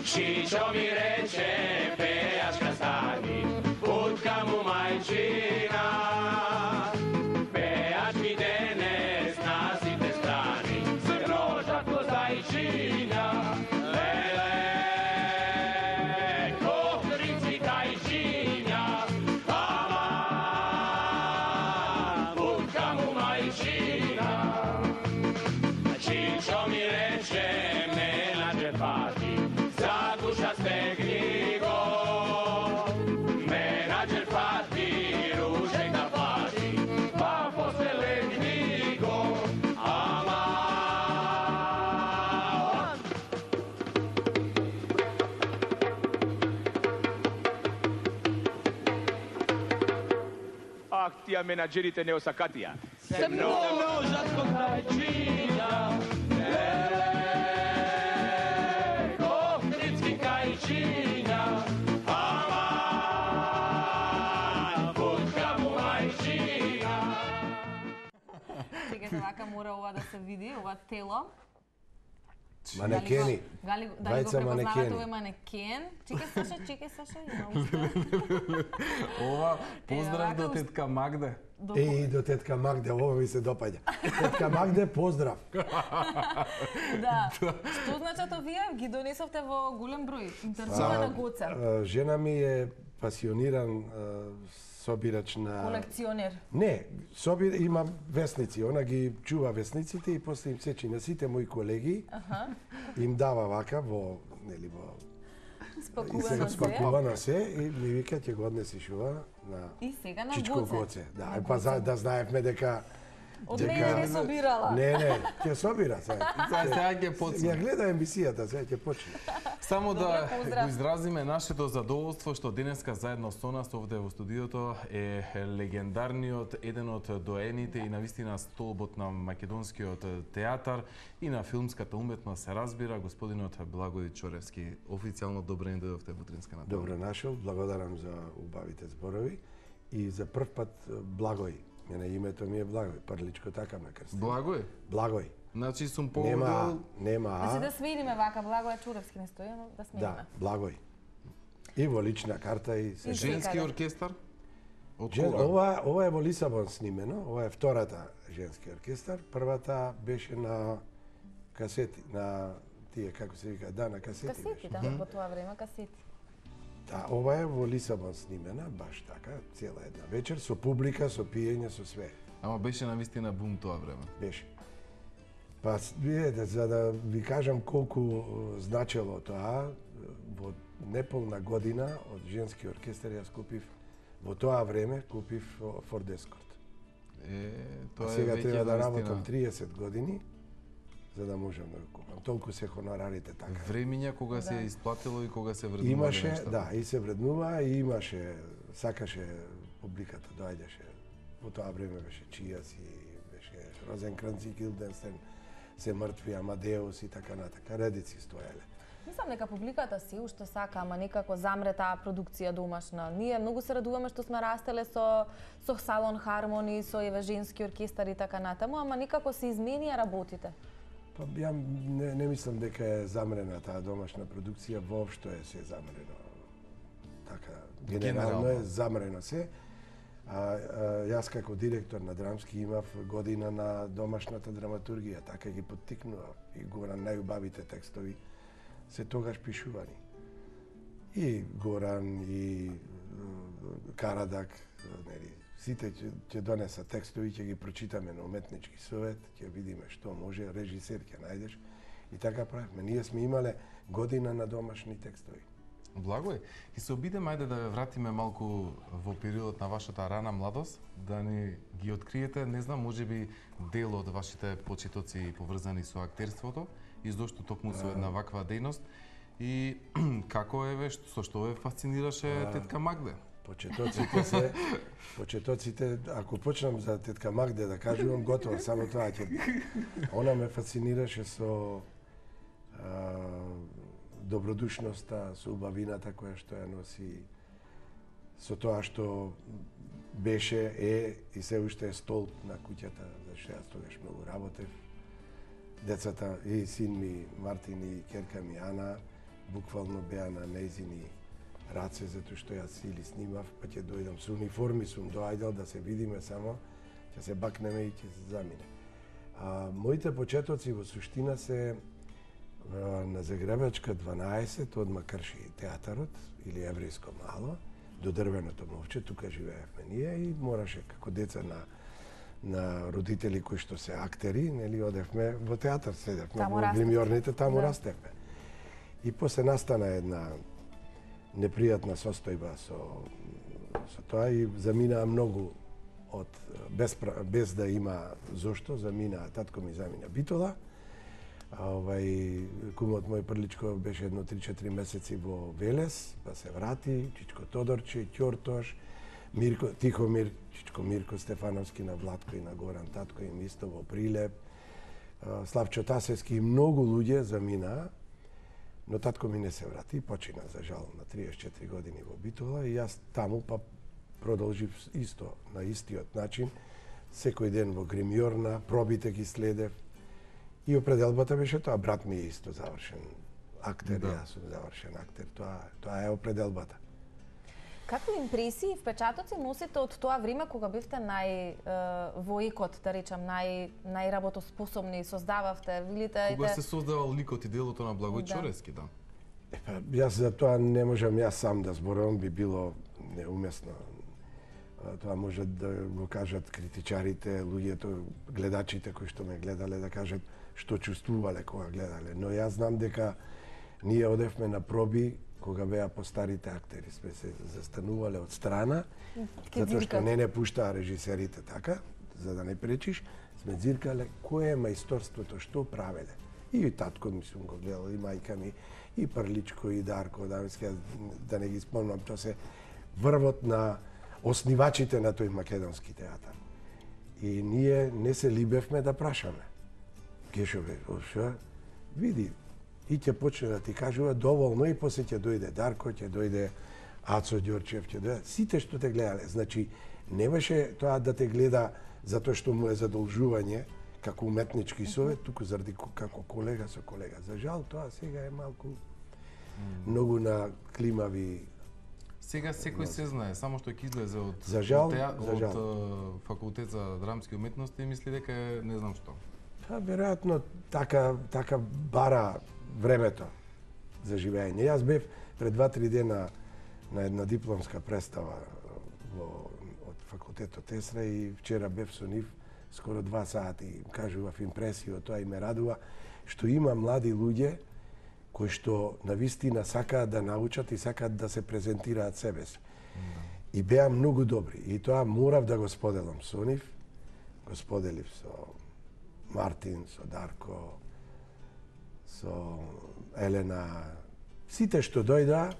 Čičo mi reče, pejačka stani, budka mu majčina. Pejač mi denes na site strani, se groža ko zajčina. Lele, ko krici kajčinja, ama, budka mu majčina. Čičo mi reče, me nađe pati, duša stegni go, menadžer pati, ružek da pati, pa posle legni go, ama. Ах, тия менаджерите не осакатија. Se množa kod najčinja, Činja, ama, budka mu majčina. Чекајте, вака мора ова да се види, ова тело. Манекени. Дали го препознавате овој манекен? Чекај Саша, Ова поздрав до тетка Магде. И до тетка Магде, ова ми се допаѓа. Тетка Магде, поздрав. Да. Што значат овие? Ги донесовте во голем број. Интересува на Гоце. Жена ми е пасиониран собирач на... Колекционер. Не, има весници. Она ги чува весниците и после им сечи на сите мои колеги. Им дава вака во, нели, во... Спакувано се и ми вика ќе го однесиш ова на Чичко Гоце. Да, па да знаевме дека од мене не собирала. Не, ќе собира сега. Сега ќе почне. Ја гледа емисијата, сега ќе почне. Само да го изразиме нашето задоволство што денеска заедно со нас овде во студиото е легендарниот, еден од доените и навистина столбот на македонскиот театар и на филмската уметност се разбира, господинот Благој Чоревски. Официјално добро ни дојдовте во Утринска натала. Добро нашол, благодарам за убавите зборови и за прв пат Благој. Мене името ми е Благој, Прличко така ме крсти. Благој? Благој. Значи сум Нема А. Значи да смениме вака, Благој Чуревски не стои, но да смениме. Да, Благој. И во лична карта и се. Женски оркестар? Ова е во Лисабон снимено, ова е втората женски оркестар, првата беше на касети, на тие како се вика, да, на касети. Касети, да, во тоа време касети. Да, ова е во Лисабон снимена, баш така, цела една вечер, со публика, со пиење, со све. Ама беше навистина бум тоа време. Беше. Па, видете, за да ви кажам колку значело тоа, во неполна година од женски оркестар јас купив, во тоа време купив Ford Escort. Тоа сега треба да работам 30 години, за да можам да го купам. Толку се хонорарите така. Времиња кога се исплатило и кога се вреднува. Имаше, да, и се вреднува, и имаше, сакаше публиката, доаѓаше. Во тоа време беше Чијас и беше Розенкранц и Гилденстен, се мртви, Амадеус и така натака, редици стоеле. Мислам дека публиката си уште сака, ама некако замре таа продукција домашна. Ние многу се радуваме што сме растеле со салон хармони, со еве женски оркестар и така натаму, ама некако се изменија работите. Па ја не мислам дека е замрена таа домашна продукција, воопшто е се замрено. Така, генерално е замрено се. Јас како директор на драмски имав година на домашната драматургија, така ги поттикнував и Горан најубавите текстови се тогаш пишувани. И Горан, и Карадак, нели, сите ќе донеса текстови, ќе ги прочитаме на уметнички совет, ќе видиме што може, режисер ќе најдеш. И така правиме. Ние сме имале година на домашни текстови. Благој, и се обидеме ајде да ве вратиме малку во периодот на вашата рана младост, да ни ги откриете, не знам, можеби дел од вашите почетоци поврзани со актерството, и зошто токму со една ваква дејност, и како еве, со што ве фасцинираше тетка Магде? Почетоците, ако почнам за тетка Магде да кажувам, готово, само тоа ќе биде. Она ме фасцинираше со добродушноста, со убавината која што ја носи, со тоа што беше и се уште е столб на куќата, зашто јас тогаш многу работев. Децата и син ми Мартин и керка ми Ана буквално беа на нејзини раце, затоа што јас или снимав, па ќе дојдам со униформи, сум доаѓал да се видиме само, ќе се бакнеме и ќе се замине. Моите почетоци во суштина се на Загребачка 12, одма крши театарот или еврејско мало, до дрвеното мовче, тука живеевме ние и мораше како деца на родители кои што се актери, нели, одевме во театар, седевме во гримјорните, таму растевме. И после настана една непријатна состојба со тоа и заминаа многу без да има зошто, татко ми замина Битола. Кумот мој Прличко беше едно 3-4 месеци во Велес, па се врати, Чичко Тодорче, Ќортош, Мирко Тихомир, Чичко Мирко Стефановски на Владко и на Горан татко им исто во Прилеп, Славчо Тасевски и многу луѓе заминаа, но татко ми не се врати, почина за жал на 34 години во Битола и јас таму па продолжив исто на истиот начин, секој ден во гримјорна, пробите ги следев. И определбата беше тоа, брат ми е исто завршен актер, јас сум завршен актер, тоа е определбата. Какви импресии и впечатоци носите од тоа време кога бевте во икот, да речам, најработоспособни, создававте, видите... Кога се создавал ликот и делото на Благој Чорески, да? Јас за тоа не можам јас сам да зборувам, би било неуместно. Тоа може да го кажат критичарите, луѓето, гледачите кои што ме гледале, да кажат што чувствувале кога гледале. Но јас знам дека ние одевме на проби кога беа постарите актери. Сме се застанувале од страна, затоа што не пуштаа режисерите така, за да не пречиш, сме дзиркале кое е мајсторството, што правеле. И татко ми сум го гледал, и мајка ми, и Прличко, и Дарко Адамски, да не ги спомнам, тоа се врвот на оснивачите на тој македонски театар. И ние не се либевме да прашаме. Гешове, шо? Види, и ќе почне да ти кажува доволно и после ќе дојде Дарко, ќе дојде Ацо Ѓорчев, ќе дојде сите што те гледале. Значи, не беше тоа да те гледа затоа што му е задолжување како уметнички совет, туку заради како колега со колега. За жал, тоа сега е малку многу на климави. Сега секој се знае, само што ќе излезе од факултет за драмски уметности и мисли дека е не знам што. Па веројатно така бара времето за живење. Јас бев пред 2-3 дена на една дипломска представа од факултетот Есра и вчера бев со нив скоро 2 сати и кажував импресии од тоа и ме радува што има млади луѓе кои што навистина сакаат да научат и сакаат да се презентираат себе си. И беа многу добри. И тоа морав да го споделам со нив. Го споделив со Мартин, со Дарко, со Елена. Сите што дојдаа,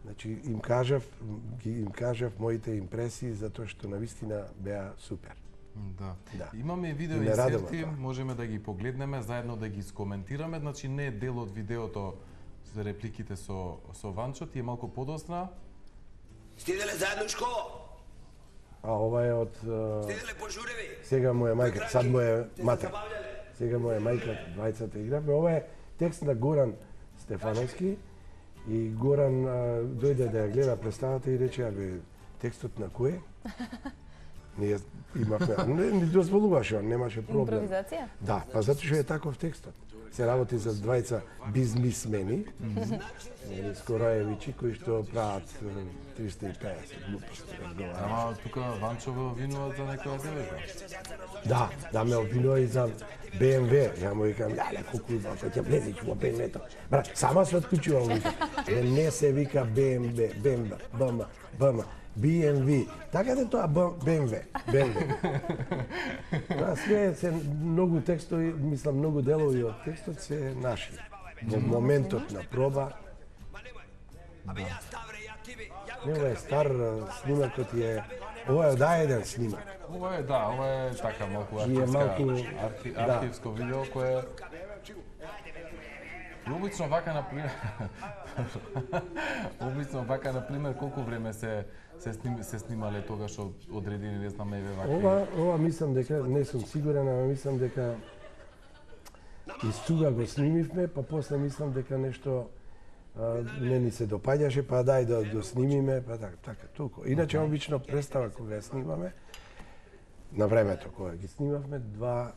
значи им кажав моите импресии затоа што навистина беа супер. Да. Имаме видео инсерти, можеме да ги погледнеме, заедно да ги скоментираме, значи не е дел од видеото за репликите со Ванчо, ти е малку подосна. Стиделе заедно у школа? Ова е од... Стиделе пожуреви? Сега му е мајка, сад му е матер. Сега му е мајка, двајцата игравме. Ова е текст на Горан Стефановски и Горан дојде да ја гледа представата и рече, абе, текстот на кој? Ние имавме, не дозволуваше, он немаше проблем. Импровизација? Да, па затоа што е таков текстот. Се работи за двајца бизнисмени, Скораевичи, кои што прават 350 глупости. Ама тука Ванчо ве обвинува за некоја девојка. Да, ме обвинува и за БМВ. Ја му викам, леле, колку Ванчо ќе влезеш во БМВ-то. Брат, сама се отклучувам, вика. Не се вика БМВ, BMW. Така да тоа BMW. Да, све се многу текстови, мислам многу делови од текстот се наши. Во моментот на проба. Ова е стар снимакот е ова е еден снимак. Ова е така малку архивско видео кое И обично вака на пример колку време се снимале тогаш одредени, не знам, еве вака. Ова мислам дека не сум сигурен, ама мислам дека истуга го снимивме, па после мислам дека нешто не ни се допаѓаше, па дај да снимиме, па така, толку. Иначе обично представа кога ја снимаме, на времето кога ги снимавме, 2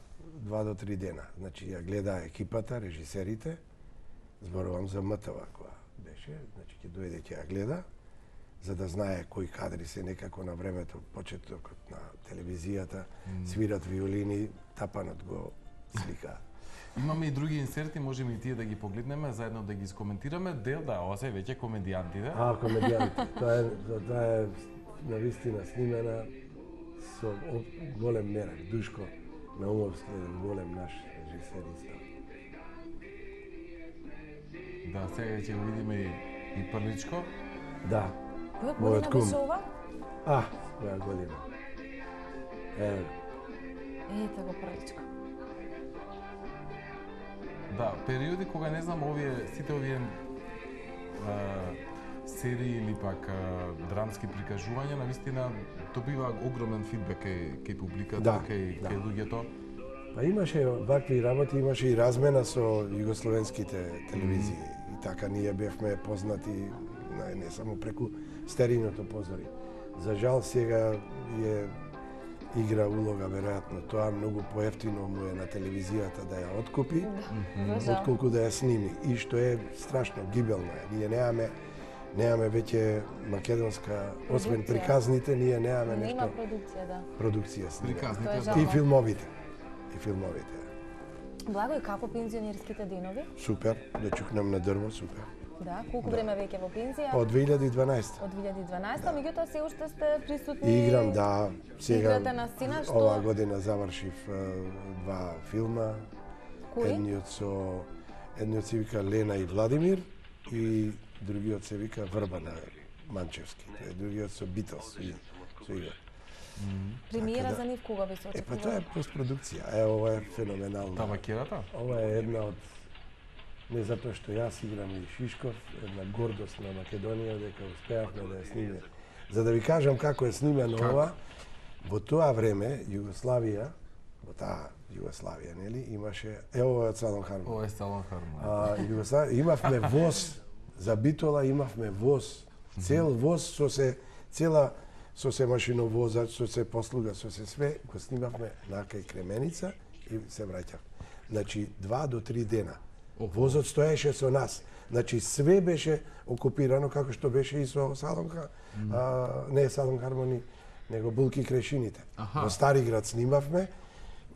до 3 дена. Значи ја гледа екипата, режисерите, зборувам за МТВ кога беше, значи ќе дојде ќе ја гледа, за да знае кои кадри се некако на времето, почетокот на телевизијата, свират виолини, тапанот го слика. Имаме и други инсерти, можеме и тие да ги погледнеме, заедно да ги искоментираме. Дел, да, ова се веќе комедијантите. Комедијантите. Тоа е навистина снимена со голем мерак. Душко Наумовски е голем наш режисер исто. Да, сега ќе го видиме и првичко. Да. Која година беше ова? Која година. Ете го првичко. Да, периоди кога не знам сите овие серии или пак драмски прикажувања, навистина добива огромен фидбек кај публиката, кај луѓето. Па имаше вакви работи, имаше и размена со југословенските телевизии. И така ние бевме познати не само преку стериното позори. За жал сега игра улога веројатно тоа, многу поевтино му е на телевизијата да ја откупи, отколку да ја сними. И што е страшно гибелно е. Ние немаме веќе македонска, освен приказните, ние немаме нешто. Нема продукција, да. Продукција снима. Приказните, И филмовите. Благо, и како пензионерските денови? Супер, да чукнам на дрво, супер. Да, колку време веќе во пензија? Од 2012. Од 2012, меѓутоа се уште сте присутни. Играм, да. Сега играте на сцена, што оваа година завршив 2 филма. Кои? Едниот се вика Лена и Владимир и другиот се вика Врба на Манчевски. Другиот со Битос со игра. Премиера за нив кога би се очекува? Па тоа е постпродукција. Ова е феноменално. Табакерата? Ова е една од, не затоа што јас играм и Шишков, една гордост на Македонија дека успеавме да ја снимеме. За да ви кажам како е снимено ова, во тоа време Југославија, нели, имаше ова од Салон Хармон. Ова е Салон Хармон. Југославија имавме воз за Битола, имавме воз, цел воз со се машиновозач, со се послуга, со се све, го снимавме на кај Кременица и се враќав. Значи 2 до 3 дена. Возот стоеше со нас. Значи све беше окупирано како што беше и со не Салон Хармони, него Булки Крешините. Во Стариград снимавме,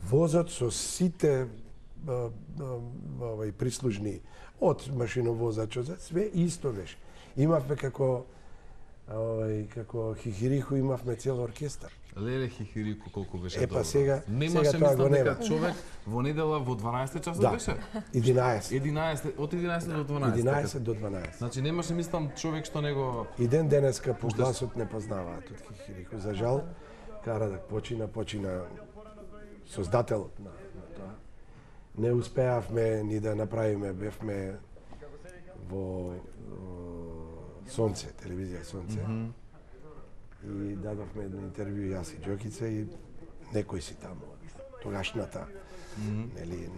возот со сите прислужни од машиновозачот, све исто беше. Имавме како Хихириху, имавме цел оркестар. Леле Хихирику колку беше добро. Сега тоа го нема. Дека човек во недела во 12 часот беше? 11. Од 11 до 12. 11 до 12. Значи немаше, мислам, човек што него... И ден денеска по гласот не познаваат од Хихирику. За жал, Карадак почина создателот на тоа. Не успеавме ни да направиме, бевме во Сонце, телевизија Сонце. И дадовме едно интервју јас и Џокица и некој си таму. Тогашната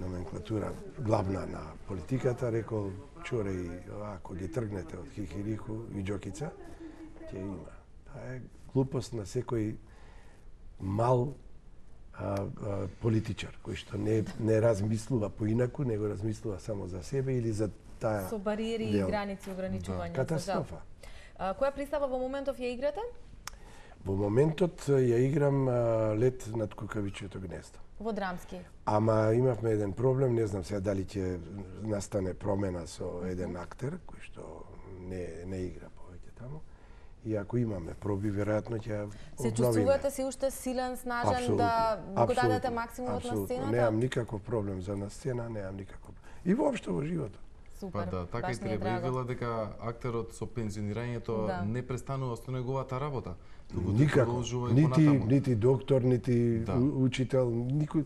номенклатура главна на политиката рекол чуре и ако ги тргнете од Хихириху и Џокица, ќе има. Тоа е глупост на секој мал политичар кој што не размислува поинаку, него размислува само за себе или за таа со бариери и граници, ограничувања. Катастрофа. Која представа во моментов ја играте? Во моментот ја играм Лет над кукавичјето гнездо. Во драмски. Ама имавме еден проблем, не знам сега дали ќе настане промена со еден актер кој што не игра повеќе таму. И ако имаме проби, веројатно ќе обновиме. Се чувствувате си уште силен, снажен да го дадете максимумот на сцената? Немам никаков проблем за на сцена, немам никаков. И воопшто во животот. Супер. Па да, така баш и ми е треба. И драго. вела дека актерот со пензионирањето не престанува со неговата работа. туку Никако. продолжува и Нити, понатаму. нити доктор, нити Да. учител, никој.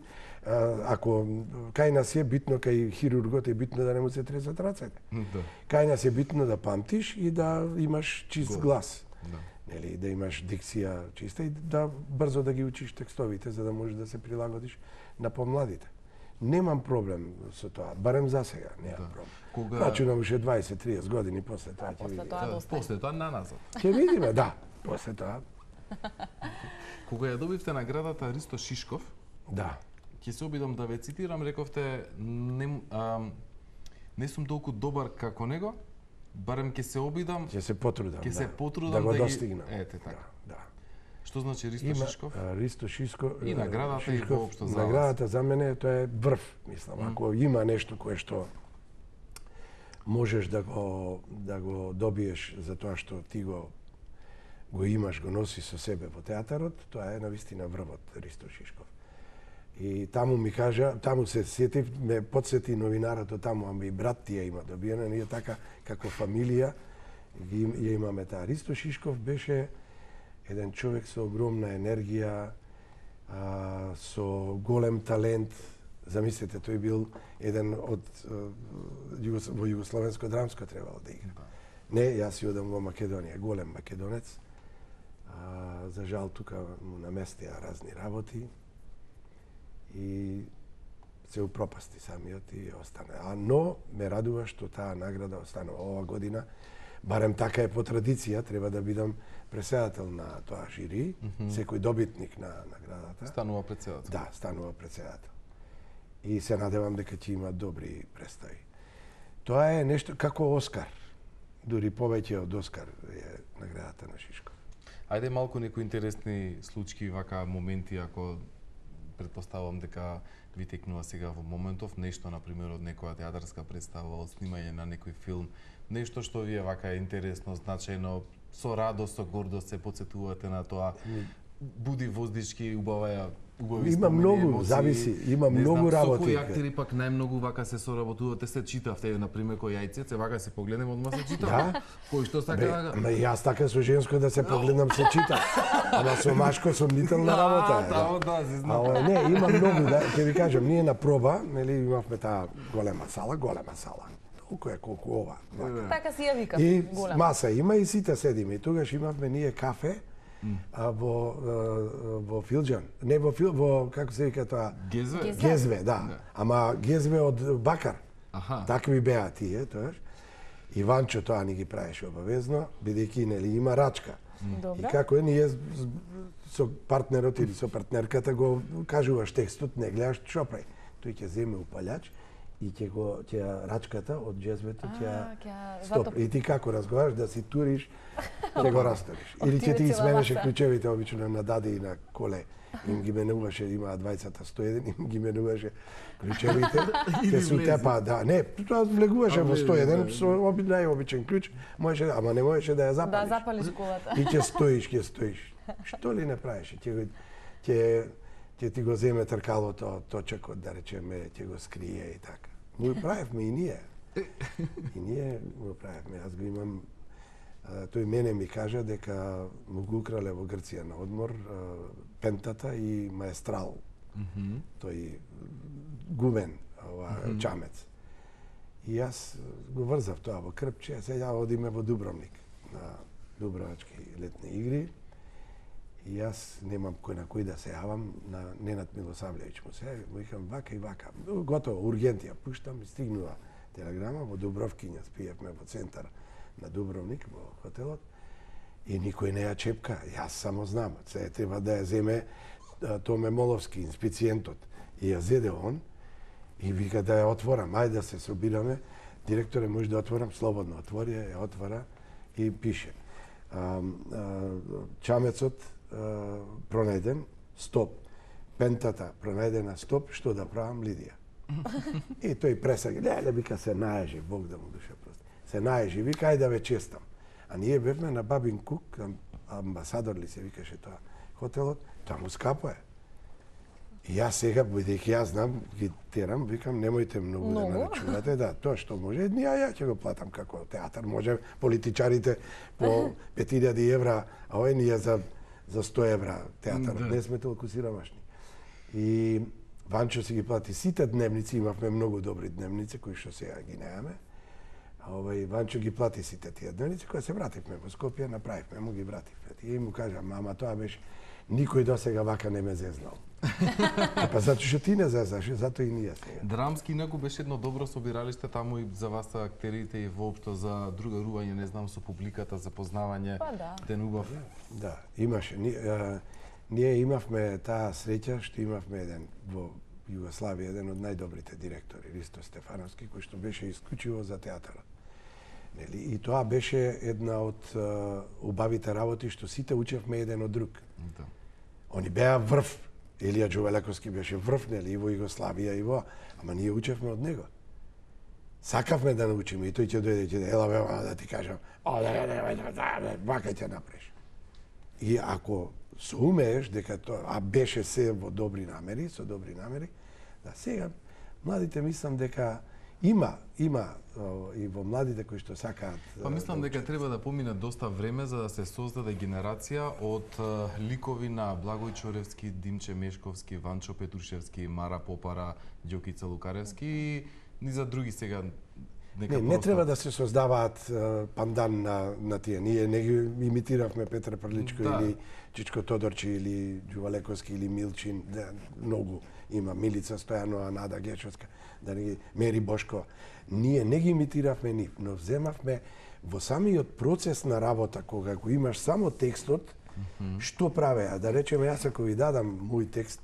Ако кај нас е битно, кај хирургот е битно да не му се тресат рацете. Да. Кај нас е битно да памтиш и да имаш чист глас. Да. Нели, да имаш дикција чиста и да брзо да ги учиш текстовите за да можеш да се прилагодиш на помладите. Немам проблем со тоа, барем за сега, немам проблем. Кога- Рачунам уште 20-30 години после тоа ќе После видиме. тоа доста. После тоа на назад. Ќе видиме, да. После тоа, Кога ја добивте наградата Ристо Шишков, да. ќе се обидам да ве цитирам, рековте не сум толку добар како него, барем ќе се обидам, Ќе се потрудам, ќе се да. потрудам да го ги- достигнам. Ете така. Да. Што значи Ристо Има Шишков? Ристо Шишков И наградата и воопшто за вас. Наградата за мене тоа е врв, мислам. Ако има нешто кое што можеш да го добиеш за тоа што ти го имаш, го носи со себе во театарот, тоа е навистина врвот Ристо Шишков. И таму ми кажа, таму се сетив, ме подсети новинарот од таму, ама и брат ти ја има добиена, ние така како фамилија ја имаме таа. Ристо Шишков беше еден човек со огромна енергија, со голем талент. Замислете, тој бил еден од во југословенско драмско требало да игра. Не, јас си одам во Македонија, голем македонец. За жал тука му наместија разни работи и се упропасти самиот и остана. Но ме радува што таа награда останува ова година. Барем така е по традиција, треба да бидам преседател на тоа жири, секој добитник на наградата. Станува председател. Да, станува председател. И се надевам дека ќе има добри представи. Тоа е нешто како Оскар. Дури повеќе од Оскар е наградата на Шишков. Ајде малку некои интересни случаи, вака моменти, ако предпоставувам дека ви текнува сега во моментов, нешто, например, од некоја театарска представа, од снимање на некој филм, нешто што ви е вака интересно, значајно, со радост, со гордост се потсетувате на тоа, буди воздишки, убави Има спомени, многу, емоции, зависи, има не многу знам, работи. Со кои актери пак најмногу вака се соработувате, се читавте, например, кој Јајцец, се вака се погледнеме, одма се читав. Да? Кој што сака... Ама јас така со женско да се погледнам се чита. Ама со машко сомнителна работа е. Да, се знам. Ама не, има многу, да, ќе ви кажам, ние на проба, нели, имавме таа голема сала. Толку е колку ова. вака. Така си ја викав, И голема. маса има и сите седиме. И тогаш имавме ние кафе во Филџан. Не во како се вика тоа? Гезве? Гезве, да. Ама гезве од бакар. Аха. Такви беа тие, тоаш. Иванчо тоа ни ги правеше обавезно, бидејќи нели има рачка. Добра. И како е, ние со партнерот или со партнерката го кажуваш текстот, не гледаш што прави. Тој ќе земе упалјач и ќе рачката од джезвето ќе ќе стоп. затопи. И ти како разговараш да си туриш, ќе го расториш. Или ќе ти Отиде сменеше цела клучевите обично на даде и на коле. Им ги менуваше, имаа двајцата 101, им ги менуваше клучевите. Ќе се утепа, да, не, тоа влегуваше во 101 со најобичен клуч, можеше, ама не можеше да ја Да запалиш. запалиш колата. И ќе стоиш. Што ли не правиш? Ќе ти го земе тркалото, точекот, да речеме, ќе го скрие и така. Му правевме и ние. И ние го правевме. Јас го имам. Тој мене ми кажа дека му го украле во Грција на одмор пентата и маестрал. Тој гумен, чамец. И јас го врзав тоа во крпче, сега одиме во Дубровник на Дубровачки летни игри. И јас немам кој на кој да се јавам, на Ненад Милосавлевиќ му се, му викам вака и вака. Готово, ургентија, пуштам и стигнува телеграма во Дубровкиња, спиевме во центар на Дубровник, во хотелот, и никој не ја чепка. Јас само знам, се треба да ја земе Томе Моловски, инспициентот. И ја зеде он, и вика да ја отворам, ајде да се собираме. Директоре, може да отворам, слободно отвори, ја отвора и пише. Чамецот пронајден, стоп. Пентата пронајдена, стоп, што да правам, Лидија. И тој пресаги, леле, вика, се наежи, Бог да му душа прости. Се наежи, вика, ајде да ве честам. А ние бевме на Бабин Кук, амбасадор ли се викаше тоа хотелот, таму скапо е. И јас сега, бидејќи јас знам, ги терам, викам, немојте многу да нарачувате, да, тоа што може, ја ќе го платам како театар, може политичарите по 5000 евра, а овој ние за 100 евра театар, не сме толку сиромашни. И Ванчо си ги плати сите дневници, имавме многу добри дневници, кои што сега ги немаме. Ванчо ги плати сите тие дневници, кои се вративме во Скопје, направивме, му ги вративме. И му кажа, мама, тоа беше, никој до сега вака не ме зезнал. Па затоа што ти не зезнаш, затоа и ние сега. Драмски инаку беше едно добро собиралиште таму и за вас актерите и воопшто за другарување, не знам, со публиката, за познавање, ден убав. Да, имаше. Ние имавме таа среќа што имавме еден во Југославија, еден од најдобрите директори, Ристо Стефановски, кој што беше исклучиво за театарот. И тоа беше една од убавите работи што сите учевме еден од друг. Да. Они беа врв. Елија Джовелековски беше врв, нели, и во Југославија и во, ама ние учевме од него. Сакавме да научиме и тој ќе дојде и ќе ела бе, да ти кажам, вака ќе направиш. И ако се умееш дека тоа, а беше се во добри намери, со добри намери, да сега младите мислам дека има и во младите кои што сакаат. Па мислам дека треба да помине доста време за да се создаде генерација од ликови на Благој Чоревски, Димче Мешковски, Ванчо Петрушевски, Мара Попара, Ѓокица Лукаревски и за други сега. Не треба да се создаваат пандан на тие. Ние не ги имитиравме Петра Прличко или Чичко Тодорчи или Ѓувалековски или Милчин, многу има Милица Стојанова, Нада Гечовска, да не ги Мери Бошко. Ние не ги имитиравме нив, но вземавме во самиот процес на работа, кога го имаш само текстот, што правеа? Да речеме, јас ако ви дадам мој текст,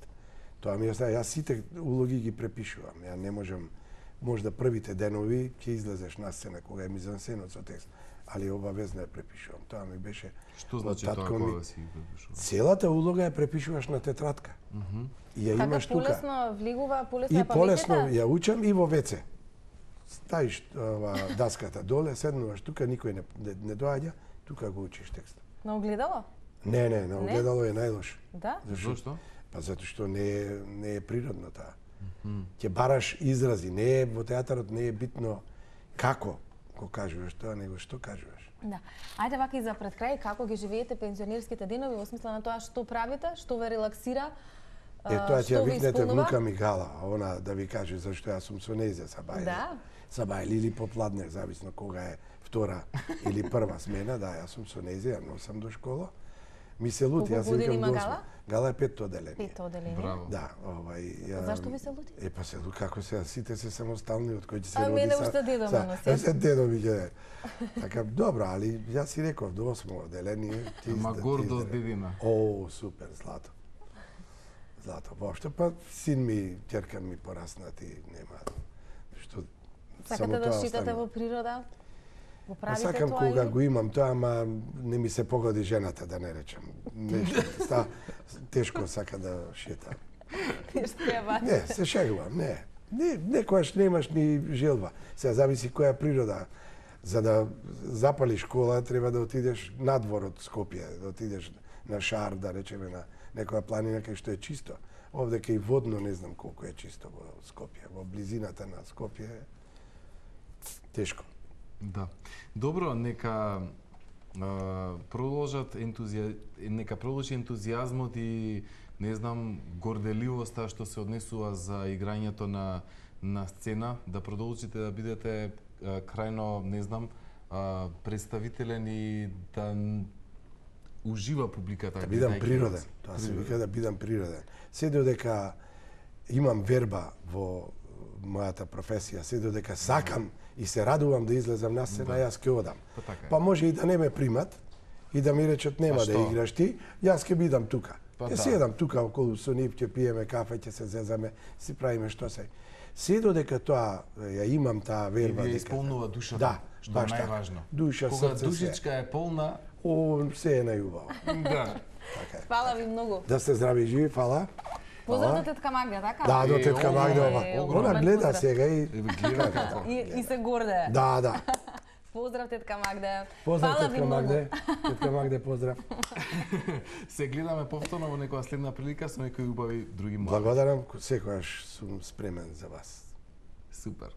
тоа ми остава, јас сите улоги ги препишувам. Ја не можам, можда првите денови ќе излезеш на сцена кога е мизансенот со текст, али обавезно ја препишувам. Тоа ми беше. Што значи тоа кога си препишуваш? Целата улога ја препишуваш на тетрадка. И ја имаш тука. Така полесно влегува, полесно и ја памтите? И полесно ја учам и во ВЦ. Ставиш даската доле, седнуваш тука, никој не доаѓа, тука го учиш текстот. На огледало? Не, на огледало е најлош. Да? Зошто? Па затоа што не е природно таа. Ќе бараш изрази, не е во театарот не е битно како го кажуваш тоа, него што кажуваш. Да. Ајде вака и за пред крај, како ги живеете пензионерските денови во смисла на тоа што правите, што ве релаксира? Тоа ќе ја викнете внука ми Гала, она да ви каже зашто јас сум со нејзе сабајле. Да. Сабајле или попладне, зависно кога е втора или прва смена, да, јас сум со нејзе, ја носам до школа. Ми се лути, јас викам до осма. Гала е 5-то одделение. 5-то одделение. Браво. Да, Зашто ви се лути? Па се лути, како се, сите се самостални, од кои ќе се роди. А мене уште дедо ме носи. Се дедо ми ќе. Така, добро, али јас си реков до 8-то одделение. Ма гордост дедина. О, супер, злато. Злато, воопшто, па син ми, ќерка ми пораснати, нема што. Сакате да шитате во природа? Го правите тоа? Сакам кога го имам тоа, ама не ми се погоди жената, да не речам. Нешто тешко сака да шета. Нешто ја бачи. Не, се шегувам, не. Некојаш немаш ни желба. Сега зависи која природа. За да запалиш кола, треба да отидеш надвор од Скопје, да отидеш на Шар, да речеме на некоја планина кај што е чисто. Овде кај водно не знам колку е чисто во Скопје. Во близината на Скопје тешко. Да. Добро, нека продолжат нека продолжи ентузијазмот и не знам горделивоста што се однесува за играњето на сцена, да продолжите да бидете крајно, не знам, представителен и да ужива публиката. Да бидам природен. Тоа се вика да бидам природен. Се додека имам верба во мојата професија, се додека сакам и се радувам да излезам на сцена, јас ќе одам. Па може и да не ме примат и да ми речат нема да играш ти, јас ќе бидам тука. Ќе седам тука околу со нив, ќе пиеме кафе, ќе се зезаме, си правиме што се. Се додека тоа ја имам таа верба дека исполнува душата, да, што е најважно. Душа, кога срце, душичка е полна, се е најубаво. Да. Така е. Фала ви многу. Да сте здрави и живи, фала. Поздрав до тетка Магда, така? Да, до тетка Магда. Она гледа сега и и се гордее. Да. Поздрав, тетка Магде. Поздрав, Фала ви тетка многу. Магде. Тетка Магде, поздрав. Се гледаме повторно во некоја следна прилика со некои убави други млади. Благодарам, секогаш сум спремен за вас. Супер.